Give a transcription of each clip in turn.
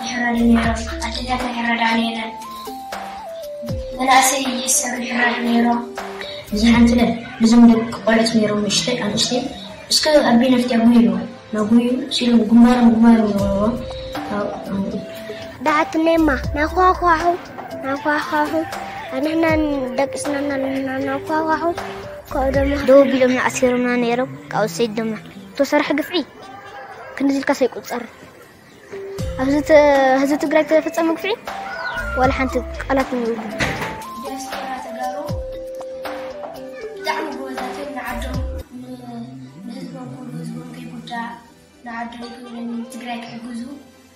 ይሕረዱ ነይሮም። ኣዴታትና ይሕረዳ ነይረን። መናእሰይ ይእሰሩ ይሕረዱ ነይሮም። ብዙሓት ለ ብዞም ደቂ ቆልዑት ነይሮም፣ ንእሽተይ ኣንእሽተይ፣ እስከ ኣቢ ነፍትያ ጉይሉ ናጉዩ ሲሉ ግንባሮም ግንባሮም ይወርዎ። ዳሓትነይማ ናኳኳሑ ናኳኳሑ ኣንሕና ደቂ ስናና ናኳኳሑ። ካብኡ ደሞ ደው ቢሎም ንኣሲሮምና ነይሮም። ካብኡ ሰይድ ድማ ተሰርሐ ግፍዒ ክንዚ ኢልካ ሰይቁፀር። ኣብዚ ተ- ህዝቢ ትግራይ ተፈፀመ ግፍዒ ዋላ ሓንቲ ቃላት ንብሉ። ዲያስፖራ ተጋሩ ብጣዕሚ ጎበዛት እዮም። ንዓዶም ን- ንህዝቦም ክብሉ፣ ህዝቦም ከይጉዳእ፣ ንዓዶም ክብሉ ንትግራይ ክሕግዙ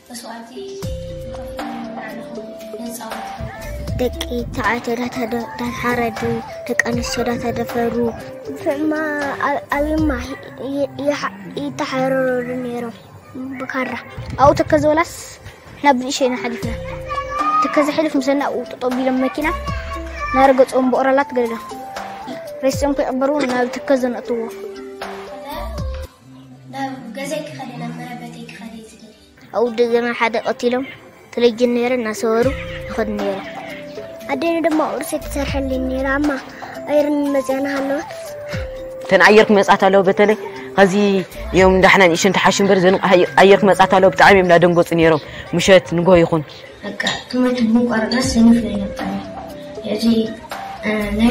መስዋእቲ ይኸፍሉ። ንባዕልኹም ነፃወት ደቂ ተባዕትዮ ዳተደ- ዳተሓረዱ፣ ደቂ ኣንስትዮ ዳተደፈሩ። ግፍዕማ ኣብ- ኣብማ ይ- ይሓ- ይተሓረሩ ነይሮም ብካራ። ኣብኡ ተከዘ ወላስ ናብ ብንእሸ ኢና ሓሊፍና። ተከዘ ሕልፍ ምሰና ኣብኡ ጠጠው ቢሎም መኪና ናረገፅኦም ብኦራላት ገለሎም ሬስኦም ከይቀበሩ ናብ ተከዘ ነእትዎ። ናብ ገዛይ ክኸደ፣ ናብ መረበተይ ክኸደ ዝደሊ ኣብኡ ደገና ሓደ ቀቲሎም ተለጅን ነይረ እናሰበሩ ይኸዱ ነይረ። ኣዴነ ድማ ቁርሲ ትሰርሐልኝ ነይራ። ኣማ ኣይርን መፅያና ሃለወት እተን ኣየር ክመፃት ኣለዎ። በተለይ ከዚ እዮም እንዳሕና ንእሽን ተሓሹ እምበር ዘን ኣየር ክመፃት ኣለዎ። ብጣዕሚ እዮም እንዳደንገፁ ነይሮም። ምሸት ንጎ ይኹን በቃ ትምህርቲ ብምቋረፅና ሰኒፍ ናይ ነብጣኒ። እዚ ናይ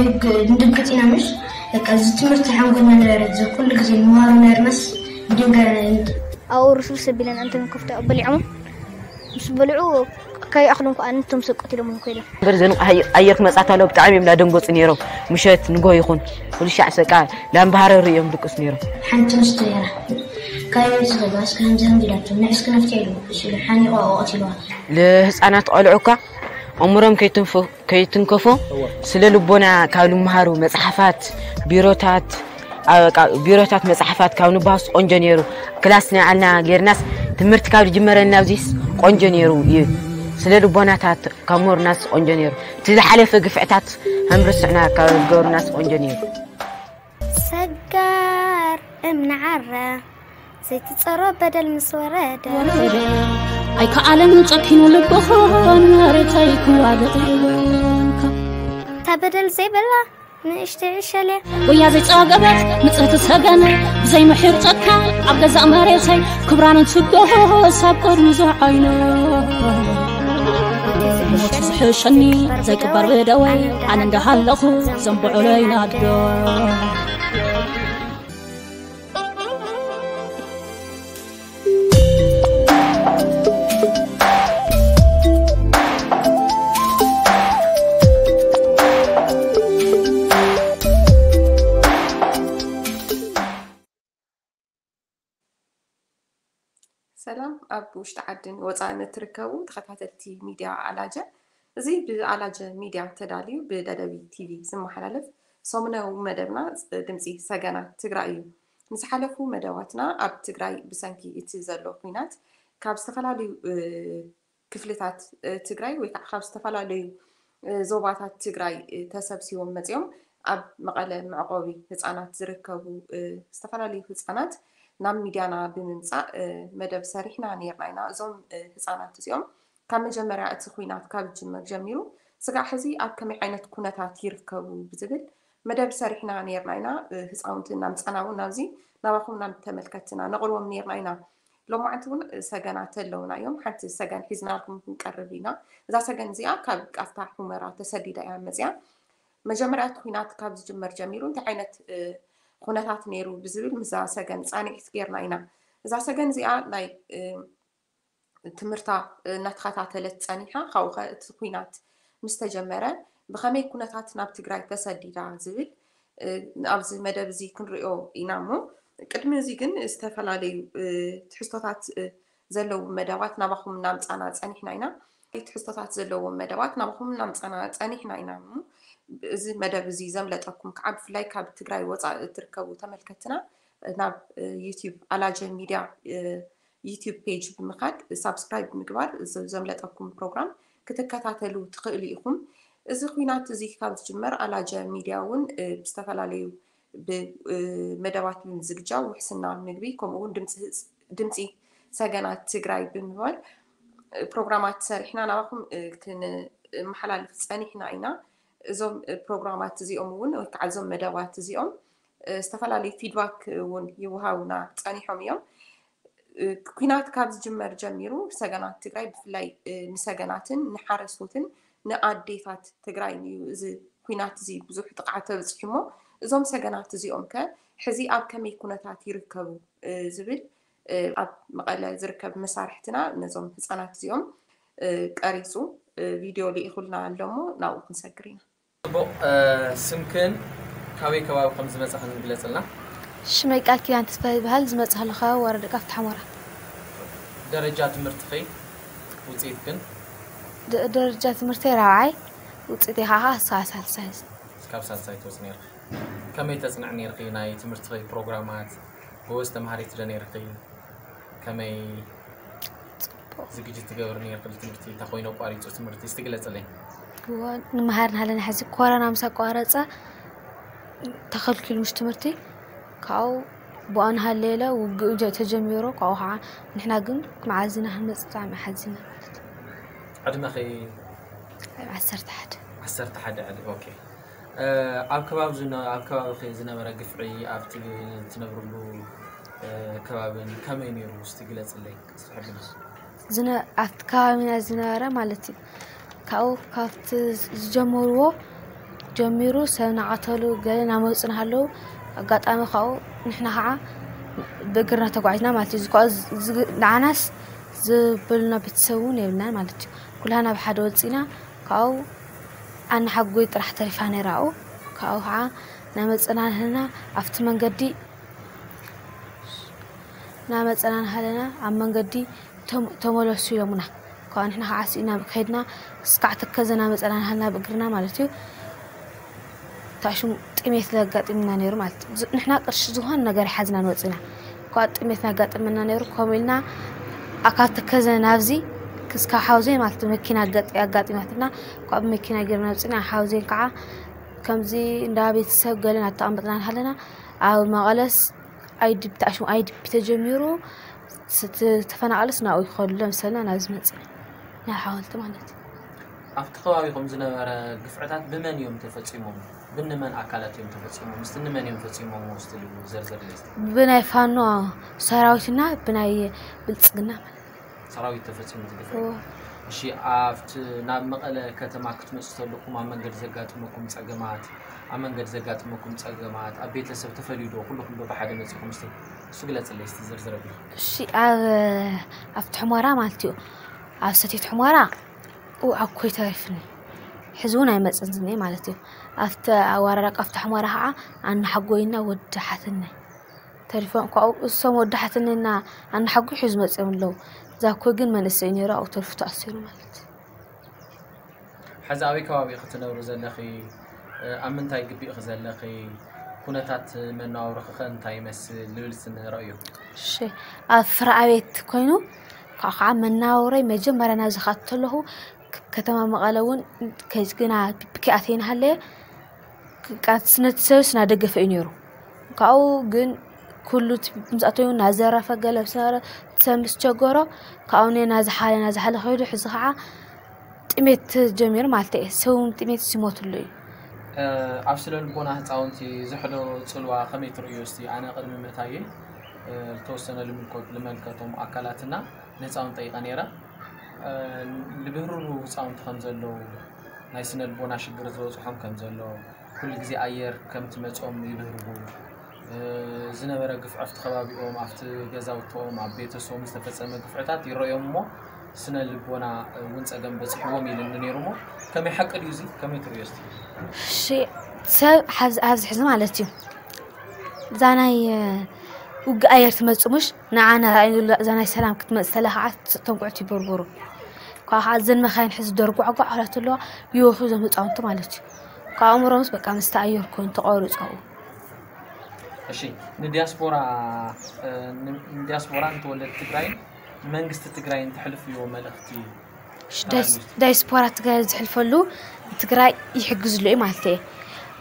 ንድንግፅ ኢና ምሽ በቃ እዚ ትምህርቲ ሓንጎልና ነበረ። እዚ ኩሉ ግዜ ንመሃሮ ነርመስ ብድንገ ኣብኡ ርስርስ ኣቢለን ኣንተን ከፍቶ በሊዖም ምስ በልዑ ከይኣኽሎም ከዓ ንቶም ሰቆት ኢሎም ከይዶም። እምበር ዘን ኣየር ክመፃት ኣለዎ። ብጣዕሚ እዮም እንዳደንገፁ ነይሮም። ምሸት ንጎ ይኹን ኩሉ ሻዕ ሰቃ ላምባሃረሩ እዮም ድቅስ ነይሮም። ሓንቲ ንስቶ ነይራ። ካበይ ዝኸዱ ኣስከ ሃምዚ ሃምዚ ኢላቶም ንዕስኪ ነፍትያ ኢሉ እሱ ኢሉ ሓኒቑ ኣብኡ ቀቲልዋ። ልህፃናት ቆልዑ እኳ ኣእምሮም ከይትንፈ- ከይትንከፎ ስለ ልቦና ካብ ልምሃሩ መፅሓፋት፣ ቢሮታት፣ ኣብ- ቃ- ቢሮታት መፅሓፋት ካብ ንባሃስ ቆንጆ ነይሩ። ክላስ ናይ ዓልና ጌርናስ ትምህርቲ ካብ ዝጅመረልና ኣብዚስ ቆንጆ ነይሩ እዩ። ስለ ልቦናታት ካብ ምሁርናስ ቆንጆ ነይሩ። እቲ ዝሓለፈ ግፍዕታት ሃምርስዕና ካብ ዝገብሩናስ ቆንጆ ነይሩ። ሰጋር እምኒ ዓረ ዘይትጸሮ በደል ምስ ወረደ ኣይከኣለን ጨኪኑ ልብኹን መሬተይ ክዋድቕ ኢሉ እታ በደል ዘይበላ ንእሽተይ ዕሸል እያ። ወያ ዘይጸገበት ንጽህቲ ሰገነ ብዘይምሒር ጨካ ኣብ ገዛእ መሬተይ ክብራን እንትገሆ ሳብ ቅድሚ ዝዓይነ ሞት ዝሕሸኒ ዘይቅበር ብደወይ ኣነ እንዳሃለኹ ዘንብዑለይ ናዶ ሰላም ኣብ ውሽጢ ዓድን ወፃእን እትርከቡ ተኸታተልቲ ሚድያ ኣላጀ፣ እዚ ብኣላጀ ሚድያ ተዳልዩ ብደደቢት ቲቪ ዝመሓላለፍ ሰሙናዊ መደብና ድምፂ ሰገናት ትግራይ እዩ። ንዝሓለፉ መደባትና ኣብ ትግራይ ብሰንኪ እቲ ዘሎ ኲናት ካብ ዝተፈላለዩ ክፍልታት ትግራይ ወይ ከዓ ካብ ዝተፈላለዩ ዞባታት ትግራይ ተሰብሲቦም መፂኦም ኣብ መቐለ መዕቆቢ ህፃናት ዝርከቡ ዝተፈላለዩ ህፃናት ናብ ሚድያና ብምምፃእ መደብ ሰሪሕና ነይርና ኢና። እዞም ህፃናት እዚኦም ካብ መጀመርያ እቲ ኲናት ካብ ዝጅመር ጀሚሩ ስጋዕ ሕዚ ኣብ ከመይ ዓይነት ኩነታት ይርከቡ ብዝብል መደብ ሰሪሕና ነይርና ኢና። ህፃውንቲ እናምፃና እውን ናብዚ ናባኹም ናብ ተመልከትና ነቕርቦም ነይርና ኢና። ሎማዓንቲ እውን ሰገናት ኣለውና እዮም። ሓንቲ ሰገን ሒዝናልኩም ክንቀርብ ኢና። እዛ ሰገን እዚኣ ካብ ቃፍታ ሑመራ ተሰዲዳ እያ መፅያ። መጀመርያ እቲ ኲናት ካብ ዝጅመር ጀሚሩ እንታይ ዓይነት ኩነታት ነይሩ ብዝብል ምስዛ ሰገን ፃንሒት ጌርና ኢና። እዛ ሰገን እዚኣ ናይ ትምህርታ እናተኸታተለት ፀኒሓ ካብኡ ከ እቲ ኲናት ምስ ተጀመረ ብኸመይ ኩነታት ናብ ትግራይ ተሰዲዳ ዝብል ኣብዚ መደብ እዚ ክንሪኦ ኢና እሞ ቅድሚ እዚ ግን ዝተፈላለዩ ትሕዝቶታት ዘለዎም መደባት ናባኹም እናምፃና ፀኒሕና ኢና። ትሕዝቶታት ዘለዎም መደባት ናባኹም እናምፃና ፀኒሕና ኢና እሞ እዚ መደብ እዚ ዘምለጠኩም ከዓ ብፍላይ ካብ ትግራይ ወፃኢ እትርከቡ ተመልከትና ናብ ዩቲብ ኣላጀ ሚድያ ዩቲብ ፔጅ ብምኻድ ሳብስክራይብ ብምግባር ዘምለጠኩም ፕሮግራም ክትከታተሉ ትኽእሉ ኢኹም። እዚ ኲናት እዚ ካብ ዝጅመር ኣላጀ ሚድያ እውን ብዝተፈላለዩ ብመደባት ብምዝግጃው ውሕስና ምግቢ ከምኡ እውን ድምፂ ሰገናት ትግራይ ብምባል ፕሮግራማት ሰሪሕና ናባኹም ክንመሓላልፍ ፀኒሕና ኢና። እዞም ፕሮግራማት እዚኦም እውን ወይ ከዓ እዞም መደባት እዚኦም ዝተፈላለዩ ፊድባክ እውን ይወሃቡና ፀኒሖም እዮም። ኩናት ካብ ዝጅመር ጀሚሩ ሰገናት ትግራይ ብፍላይ ንሰገናትን ንሓረስቶትን ንኣዴታት ትግራይ እዩ እዚ ኩናት እዚ ብዙሕ ጥቕዓት ተብፅሑ እሞ እዞም ሰገናት እዚኦም ከ ሕዚ ኣብ ከመይ ኩነታት ይርከቡ ዝብል ኣብ መቐለ ዝርከብ መሳርሕትና ነዞም ህፃናት እዚኦም ቀሪፁ ቪድዮ ልኢኹልና ኣሎ እሞ ናብኡ ክንሰግር ኢና። ፅቡቕ። ስምክን ካበይ ከባቢ ከም ዝመፃኽን ግለፅልና። ሽመይ ቃል ኪዳን ተስፋ ይበሃል። ዝመፅኣሉ ከባቢ ወረዳ ቃፍታ ሑመራ። ደረጃ ትምህርትኺ ውፅኢትክን? ደረጃ ትምህርተይ ራብዓይ፣ ውፅኢተይ ከዓ ሳልሳይ። ካብ ሳልሳይ ትወፅ ነርኪ። ከመይ ተፅንዕ ነርኪ? ናይ ትምህርትኺ ፕሮግራማት ጎበዝ ተምሃሪት ዶ ነርኪ? ከመይ ዝግጅት ትገብር ነርኪ? ትምህርቲ እንታይ ኮይኑ ኣቋሪፁ ትምህርቲ እስቲ ግለፅለይ። ንመሃር ናሃለና ሕዚ ኮረና ምስ ኣቋረፀ ተኸልኪሉ ምሽ ትምህርቲ ካብኡ ብኣን ሃለለ ውግእ ተጀሚሩ ካብኡ ከዓ ንሕና ግን መዓዝ ኢና ክንመፅእ ብጣዕሚ ሓዚና ማለት እዩ። ዕድመኺ? ዓሰርተ ሓደ። ዓሰርተ ሓደ ዕድመ። ኦኬ። ኣብ ከባቢ ዝነ- ኣብ ከባቢኺ ዝነበረ ግፍዒ ኣብቲ ትነብርሉ ከባብን ከመይ ነይሩ እስቲ ግለፅለይ? ኣብቲ ከባቢና ዝነበረ ማለት እዩ። ካብኡ ካብቲ ዝጀመርዎ ጀሚሩ ሰብ ናቐተሉ ገለ ናመፁ ናሃለዉ ኣጋጣሚ ካብኡ ንሕና ከዓ ብእግርና ተጓዒዝና ማለት እዩ። ንዓናስ ዝበሉና ቤተሰብ እውን የብልናን ማለት እዩ። ኩላና ብሓደ ወፂና ካብኡ ኣናሓጎይ ጥራሕ ተሪፋ ነይራ ኣብኡ። ካብኡ ከዓ ናመፀና ናሃለና ኣብቲ መንገዲ ናመፀና ናሃለና ኣብ መንገዲ ተመለሱ ኢሎምና። ካብኡ ንሕና ከዓ ስኢና ከይድና እስካዕ ተከዘ ናመፀና ናሃለና ብእግርና ማለት እዩ። ታሽሙ ጥሜት ዘጋጢምና ነይሩ ማለት እዩ። ንሕና ቅርሺ ዝኾነ ነገር ይሓዝና ንወፅና። እኳ ጥሜት ናጋጥመና ነይሩ ከምኡ ኢልና ካብ ተከዘ ናብዚ ክስካ ሓውዜን ማለት መኪና ኣጋጢማትና ካብ መኪና ገርና ወፅና ሓውዜን ከዓ ከምዚ እንዳ ቤተሰብ ገለን ኣተቐምጥና ሃለና ኣብ መቐለስ ኣይድቢ ተኣሽሙ ኣይድቢ ተጀሚሩ ተፈናቐለስ ናብኡ ይኸዱ ለምሰልና ናብዚ መፅና ናብ ሓወልቲ ማለት እዩ። ኣብቲ ከባቢኹም ዝነበረ ግፍዕታት ብመን እዮም ተፈፂሞም? ብንመን ኣካላት እዮም ተፈፂሞም? ምስቲ ንመን እዮም ፈፂሞም? ውስጥ ልዩ ዘርዘር ለስቲ ብናይ ፋኖ ሰራዊትና ብናይ ብልፅግና ማለት ሰራዊት ተፈፂሙ ዝግፍዕ። እሺ፣ ኣብቲ ናብ መቐለ ከተማ ክትመፁ ተለኩም ኣብ መንገዲ ዘጋጥመኩም ፀገማት ኣብ መንገዲ ዘጋጥመኩም ፀገማት ኣብ ቤተሰብ ተፈልዩ ዶ ኩልኩም ዶ ብሓደ መፂኹም? እስቲ እሱ ግለፅለይ እስቲ ዝርዝር ኣቢልኩም። እሺ፣ ኣብ ኣብቲ ሕሞራ ማለት እዩ ኣብ ሰቲት ሕሞራ ኣኮይ ተሪፍኒ ሕዚ እውን ኣይመፅን ዝኒ ማለት እዩ። ኣብቲ ኣዋራዳ ቃፍታ ሕሞራ ከዓ ኣናሓጎይና ወዲ ሓትነይ ተሪፎም ካብኡ እሶም ወዲ ሓትነይና ኣናሓጎይ ሕዚ መፅኦም ኣለዉ። ዛኮ ግን መንእሰይ ነይሩ ኣብኡ ተሪፉ ተኣሲሩ ማለት እዩ። ሕዚ ኣበይ ከባቢ ክትነብሩ ዘለኺ? ኣብ ምንታይ ግቢ ኢኺ ዘለኺ? ኩነታት መነባብሮኺ ከ እንታይ ይመስል? ልብል እስቲ ንረእዮ። እሺ፣ ኣብ ፍረ ኣቤት ኮይኑ ካብኡ ከዓ መናወረይ መጀመርያ ናብዚ ከኣቱ ከለኹ ከተማ መቐለ እውን ከይዝግና ብኪኣት ይንሃለየ ነቲ ሰብስ ናደገፈ እዩ ነይሩ። ካብኡ ግን ኩሉ ምስኣተዩ ናዘረፈ ገለ ምስ ነበረ ሰብ ምስ ቸገሮ ካብኡ ናዝሓለ ናዝሓለ ከይዱ ሕዚ ከዓ ጥሜት ጀሚሩ ማለት እየ። ሰብ እውን ጥሜት ሲሞትሉ እዩ። ኣብ ስለ ልቦና ህፃውንቲ ዝሕዶ ፅልዋ ከመይ ትርእዮ? እስቲ ኣነ ቅድሚ ምእታየ ዝተወሰነ ልምልከቶም ኣካላትና ንህፃውንቲ ጠይቀ ነይረ። ልብህርሩ ህፃውንቲ ከም ዘለዉ ናይ ስነ ልቦና ሽግር ዝበፅሖም ከም ዘሎ ኩሉ ግዜ ኣየር ከም ትመፆም ይብህርሩ። ዝነበረ ግፍዒ ኣብቲ ከባቢኦም ኣብቲ ገዛውቶም ኣብ ቤተሰቦም ዝተፈፀመ ግፍዕታት ይረኦም እሞ ስነ ልቦና እውን ፀገም በፂሕዎም ኢሉኒ ነይሩ እሞ ከመይ ሓቂ ድዩ እዚ ከመይ ትርእዮ እስቲ? እሺ ሰብ ኣብዚ ሕዚ ማለት እዩ እዛ ናይ ውግእ ኣየር ትመፅእ ሙሽ ንዓና ራእይሉ እዛ ናይ ሰላም ክትመፅእ ተላ ከዓ ተንኩዕቲ ይበርበሩ ካብ ከዓ እዘን መካይን ሕዚ ደርጓዕጓዕ ክላት ኣለዋ ይወሑ እዞም ህፃውንቲ ማለት እዩ ካብ ኣእምሮምስ በቃ ምስቲ ኣየር ኮይኑ ተቋርፁ ኣብኡ እሺ ንዲያስፖራ ንዲያስፖራ ንተወለድ ትግራይን ንመንግስቲ ትግራይን ተሕልፍዮ መልእክቲ ዳይስፖራ ትግራይ ዝሕልፈሉ ትግራይ ይሕግዝሉ እዩ ማለት እየ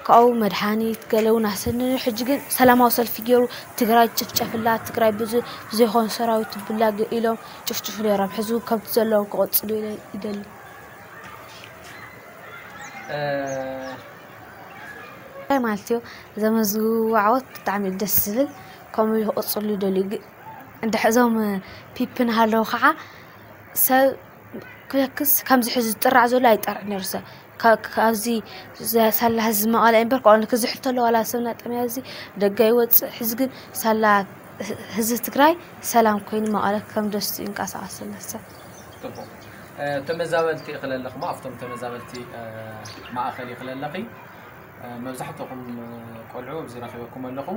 ካብኡ መድሓኒት ገለ እውን ኣሰንዩ። ሕጂ ግን ሰላማዊ ሰልፊ ገይሩ ትግራይ ጭፍጨፍላ፣ ትግራይ ብዙ ብዘይኮነ ሰራዊት ትብላዕ ኢሎም ጭፍጭፍ ነይሮም። ሕዚ እውን ከምቲ ዘለዎም ክቕፅሉ ኢለ ይደሊ። ማለት እዩ። ዘመዝግቡ ዓወት ብጣዕሚ እዩ ደስ ዝብል። ከምኡ ክቕፅሉ ይደልዩ። ግ- እንድሕር እዞም ፒፕ እናሃለዉ ከዓ ሰብ ክለክስ ከምዚ ሕዚ ዝጥራዕ ዘሎ ኣይጠርዕ ነይሩ ሰብ። ካ- ካብዚ ዘ- ሳላ ህዝቢ መቐለ እምበር፣ ከ ክዝሕል ተሎ ዋላ ሰብ ናጠምያ እዚ ደገ ይወፅእ። ሕዚ ግን ሳላ ህ- ህዝቢ ትግራይ ሰላም ኮይኑ መቐለ ከም ደስ ይንቀሳቐስ ዘሎ ሰብ። ጽቡቕ። እ፣ ተመዛበልቲ እኽለ ኣለኹ፣ ኣብቶም ተመዛበልቲ፣ እ፣ ማእኸል እኽለ ኣለኺ። እ፣ መብዛሕትኹም፣ እ፣ ቆልዑ ኣብዚ ረኺበኩም ኣለኹ።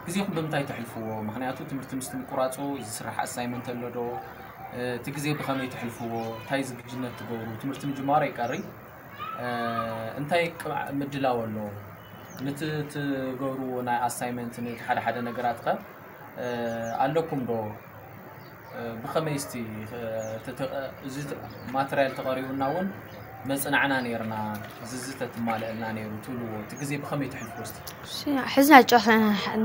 ግዜኹም ብምንታይ ተሕልፍዎ? ምኽንያቱ ትምህርቲ ምስቲ ምቁራፁ ዝስራሕ ኣሳይመንት ኣሎ ዶ? እ፣ እቲ ግዜ ብኸመይ ተሕልፍዎ? እንታይ ዝግጅነት ትገብሩ? ትምህርቲ ምጅማሩ ኣይቀሪ። እ፣ እንታይ ቅ-፣ ምድላው ኣሎ? ንቲ ትገብርዎ ናይ ኣሳይመንት፣ ንቲ ሓደ ሓደ ነገራት ከ፣ እ፣ ኣለኩም ዶ? እ፣ ብኸመይ እስቲ፣ እ፣ ተተ-፣ እዚ ተ-፣ ማተርያል ተቐሪቡና እውን መጽናዕና ነይርና፣ እዚ እዚ ተትማልአልና ነይሩ ትብልዎ፣ እቲ ግዜ ብኸመይ ትሕልፍዎ እስቲ? እሺ፣ ሕዚ ናይ ጨዋታ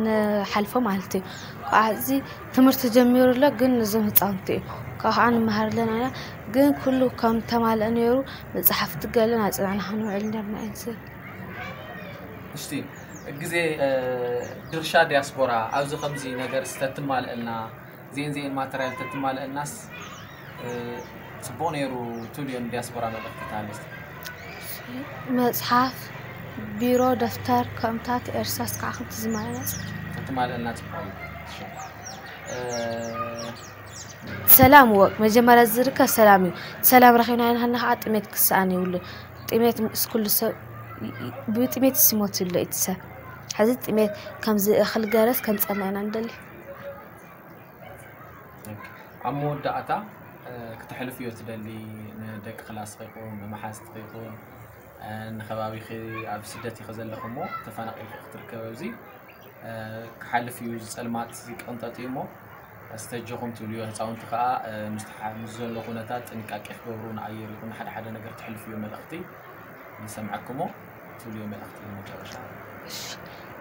ንሓልፎ ማለት እዩ። ካብዚ ትምህርቲ ጀሚሩ ኣሎ፣ ግን እዞም ህፃውንቲ እዮም። ካብ ከዓ ንመሃር ኣለና ኢና፣ ግን ኩሉ ከም ተማልአ ነይሩ፣ መፅሓፍቲ ገለን ኣፅናዕና ክንውዕል ነርና እዩ ዝብል። እሽቲ፣ ግዜ፣ እ፣ ድርሻ ዲያስፖራ ኣብዚ ከምዚ ነገር ዝተትማልአልና፣ ዜን ዜን ማተርያል ተትማልአልናስ፣ እ፣ ጽቡቕ ነይሩ ትብልዮ ንዲያስፖራ መልእኽቲ ትሃልስ? መጽሓፍ፣ ቢሮ፣ ደፍተር፣ ከምታት፣ እርሳስ ከዓ ከምቲ ዝማልና ጽቡቕ። ተትማልአልና ጽቡቕ እዩ። እሺ። እ፣ ሰላም ወቅ መጀመርያ ዝርከብ ሰላም እዩ። ሰላም ረኺብና ኢና ሃልና ከዓ ጥሜት ክሰኣን የብሉን። ጥሜት ምስ ኩሉ ሰብ ይ-፣ ይ-፣ ብጥሜት ይሞት ይብሎ እቲ ሰብ። ሕዚ ጥሜት ከምዚ እኽል ገረስ ከምፀልና ኢና ንደሊ። ኦኬ። ኣብ መወዳእታ፣ እ፣ ክተሕልፍዮ ትደሊ ንደቂ ክላስኺ ይኹን፣ ንመሓዝትኺ ይኹን፣ እ፣ ንኸባቢኺ ኣብ ስደት ኢኺ ዘለኺ እሞ ተፈናቒልኪ ክትርከብ ኣብዚ፣ እ፣ ክሓልፍ እዩ፣ እዚ ጸልማት እዚ ቅንጠጥ እዩ እሞ፣ ኣስተጀኹም ትብልዮ፣ ህፃውንቲ ከዓ፣ እ፣ ምስ ተሓ-፣ ምስ ዘሎ ኩነታት ጥንቃቄ ክገብሩ፣ ንኣየር ይኹን ንሓደ ሓደ ነገር ትሕልፍዮ መልእኽቲ ንሰምዐክሞ ትብልዮ መልእኽቲ መጨረሻ። እሺ።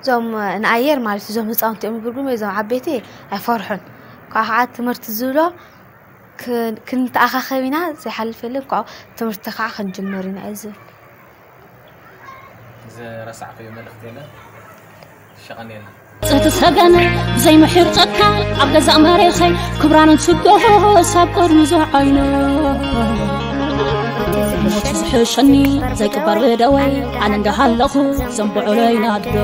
እዞም ንኣየር ማለት እዞም ህፃውንቲ እዮም ዝብርጉም፣ እዞም ዓበይቲ ኣይፈርሑን። ካብ ከዓ ትምህርቲ ዝብሎ ክ-፣ ክንተኣኻኸብ ኢና፣ ዘይሓልፍ የለን፣ ካብኡ ትምህርቲ ከዓ ክንጅምር ኢና እዩ ዝብል። ዝረሳዕክዮ መልእኽቲ የለን? ሸቐን የለን። እቲ ሰገን ብዘይ ምሒር ጸካ ኣብ ገዛእ መሬኸይ ክብራን ትጎሆ ሳብ ቅድሚ ዝዓይኖ ሞት ዝሕሸኒ ዘይቅበር ብደወይ ኣነ እንዳሃለኹ ዘንብዑለይ ናዶ።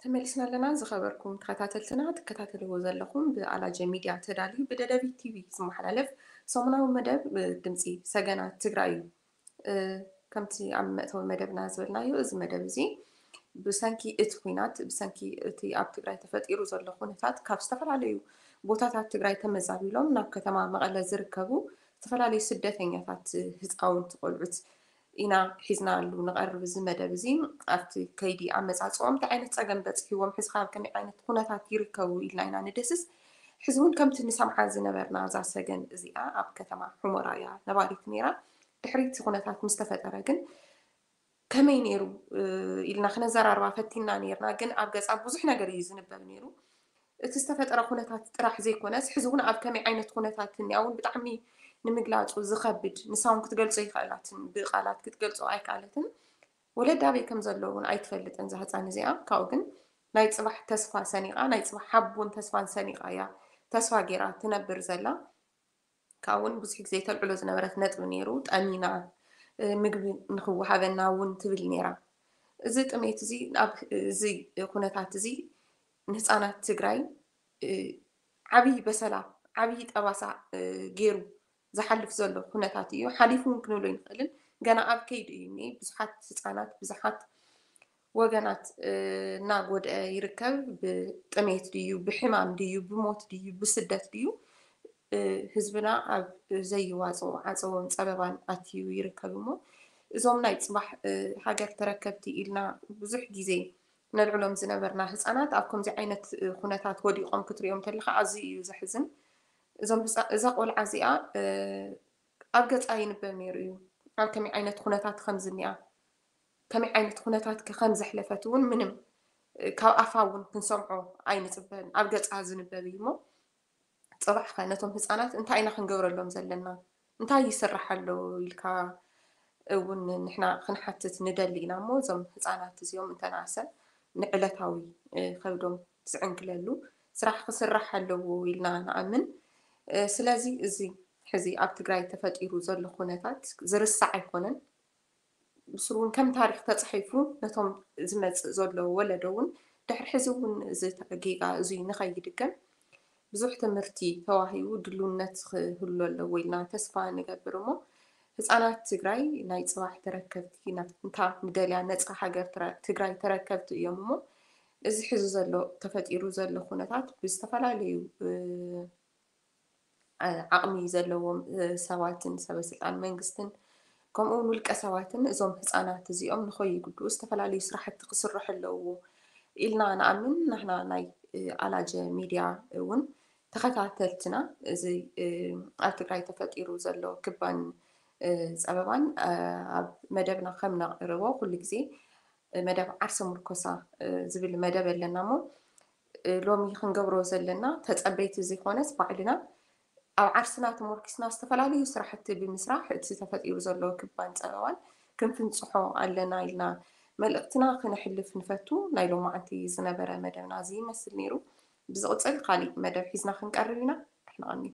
ተመሊስና ኣለና። ዝኸበርኩም ተኸታተልትና፣ ትከታተልዎ ዘለኹም ብኣላጀ ሚድያ ተዳልዩ ብደደቢት ቲቪ ዝመሓላለፍ ሰሙናዊ መደብ፣ እ፣ ድምፂ ሰገናት ትግራይ እዩ። እ፣ ከምቲ ኣብ መእተዊ መደብና ዝበልናዮ፣ እዚ መደብ እዚ ብሰንኪ እቲ ኲናት፣ ብሰንኪ እቲ ኣብ ትግራይ ተፈጢሩ ዘሎ ኩነታት፣ ካብ ዝተፈላለዩ ቦታታት ትግራይ ተመዛቢሎም ናብ ከተማ መቐለ ዝርከቡ ዝተፈላለዩ ስደተኛታት፣ ህፃውንቲ፣ ቆልዑት ኢና ሒዝናሉ ንቐርብ። እዚ መደብ እዚ ኣብቲ ከይዲ ኣመፃፅኦም እንታይ ዓይነት ፀገም በፂሕዎም፣ ሕዚ ካብ ከመይ ዓይነት ኩነታት ይርከቡ ኢልና ኢና ንደስስ። ሕዚ እውን ከምቲ ንሰምዓ ዝነበርና፣ እዛ ሰገን እዚኣ ኣብ ከተማ ሑመራ እያ ነባሪት ነይራ። ድሕሪ እቲ ኩነታት ምስ ተፈጠረ ግን ከመይ ነይሩ፣ እ፣ ኢልና ክነዘራርባ ፈቲና ነይርና። ግን ኣብ ገፃ ብዙሕ ነገር እዩ ዝንበብ ነይሩ። እቲ ዝተፈጠረ ኩነታት ጥራሕ ዘይኮነስ፣ ሕዚ እውን ኣብ ከመይ ዓይነት ኩነታት እኒኣ እውን ብጣዕሚ ንምግላፁ ዝኸብድ፣ ንሳ እውን ክትገልፆ ኣይከኣለትን፣ ብቃላት ክትገልፆ ኣይከኣለትን። ወለዳ ኣበይ ከም ዘሎ እውን ኣይትፈልጥን እዛ ህፃን እዚኣ። ካብኡ ግን ናይ ፅባሕ ተስፋ ሰኒቓ፣ ናይ ፅባሕ ሓቦን ተስፋን ሰኒቓ እያ ተስፋ ገይራ ትነብር ዘላ። ካብኡ እውን ብዙሕ ግዜ ተልዕሎ ዝነበረት ነጥቢ ነይሩ፣ ጠሚና፣ እ፣ ምግቢ ንኽወሃበና እውን ትብል ነይራ። እዚ ጥሜት እዚ፣ ኣብ እዚ ኩነታት እዚ ንህፃናት ትግራይ፣ እ፣ ዓብዪ በሰላ፣ ዓብዪ ጠባሳ፣ እ፣ ገይሩ ዝሓልፍ ዘሎ ኩነታት እዩ። ሓሊፉ እውን ክንብሎ ኣይንኽእልን። ገና ኣብ ከይዲ እዩ እኒአ። ብዙሓት ህፃናት፣ ብዙሓት ወገናት፣ እ፣ እናጎድአ ይርከብ። ብጥሜት ድዩ፣ ብሕማም ድዩ፣ ብሞት ድዩ፣ ብስደት ድዩ፣ ህዝብና ኣብ ዘይዋፅኦ ዓፀቦን ፀበባን ኣትዩ ይርከብ እሞ እዞም ናይ ፅባሕ ሃገር ተረከብቲ ኢልና ብዙሕ ግዜ ነልዕሎም ዝነበርና ህፃናት ኣብ ከምዚ ዓይነት ኩነታት ወዲቖም ክትሪኦም ተለካ ኣዝዩ እዩ ዘሕዝን። እዞም እዛ ቆልዓ እዚኣ ኣብ ገፃ ይንበብ ነይሩ እዩ። ኣብ ከመይ ዓይነት ኩነታት ከም ዝኒኣ ከመይ ዓይነት ኩነታት ከም ዘሕለፈት እውን ምንም ካብ ኣፋ እውን ክንሰምዖ ኣይንፅበን። ኣብ ገፃ ዝንበብ እዩ እሞ ፅባሕ ከ ነቶም ህፃናት እንታይ ኢና ክንገብረሎም ዘለና? እንታይ ይስራሕ ኣሎ ኢልካ እውን ንሕና ክንሓትት ንደሊ ኢና እሞ እዞም ህፃናት እዚኦም እንተናእሰ ንዕለታዊ ከብዶም ዝዕንግለሉ ስራሕ ክስራሕ ኣለዎ ኢልና ንኣምን። ስለዚ እዚ ሕዚ ኣብ ትግራይ ተፈጢሩ ዘሎ ኩነታት ዝርሳዕ ኣይኮነን። ብስሩ እውን ከም ታሪክ ተፃሒፉ ነቶም ዝመፅእ ዘሎ ወለዶ እውን ድሕሪ ሕዚ እውን እዚ ጌጋ እዙይ ንኸይድገም ብዙሕ ትምህርቲ ተዋሂቡ ድልውነት ክህሉ ኣለዎ ኢልና ተስፋ ንገብር እሞ ህፃናት ትግራይ ናይ ፅባሕ ተረከብቲ እታ ንደልያ ነፃ ሃገር ትግራይ ተረከብቲ እዮም እሞ እዚ ሕዚ ዘሎ ተፈጢሩ ዘሎ ኩነታት ብዝተፈላለዩ ዓቕሚ ዘለዎም ሰባትን ሰበስልጣን መንግስትን ከምኡ እውን ውልቀ ሰባትን እዞም ህፃናት እዚኦም ንኸይጉድኡ ዝተፈላለዩ ስራሕቲ ክስርሑ ኣለዎ ኢልና ንኣምን። ናህና ናይ ኣላጀ ሚድያ እውን ተኸታተልትና እዚ ኣብ ትግራይ ተፈጢሩ ዘሎ ክባን ፀበባን ኣብ መደብና ከም ነቕርቦ ኩሉ ግዜ መደብ ዓርሰ ምርኮሳ ዝብል መደብ ኣለና እሞ ሎሚ ክንገብሮ ዘለና ተፀበይቲ ዘይኮነስ ባዕልና ኣብ ዓርስና ተሞርኪስና ዝተፈላለዩ ስራሕቲ ብምስራሕ እቲ ተፈጢሩ ዘሎ ክባን ፀበባን ክንፍንፅሖ ኣለና ኢልና መልእክትና ክነሕልፍ ንፈቱ። ናይ ሎማዓንቲ ዝነበረ መደብና እዚ ይመስል ነይሩ። ብዝቕፅል ካሊእ መደብ ሒዝና ክንቀርብ ኢና። ደሕና ቀንዩ።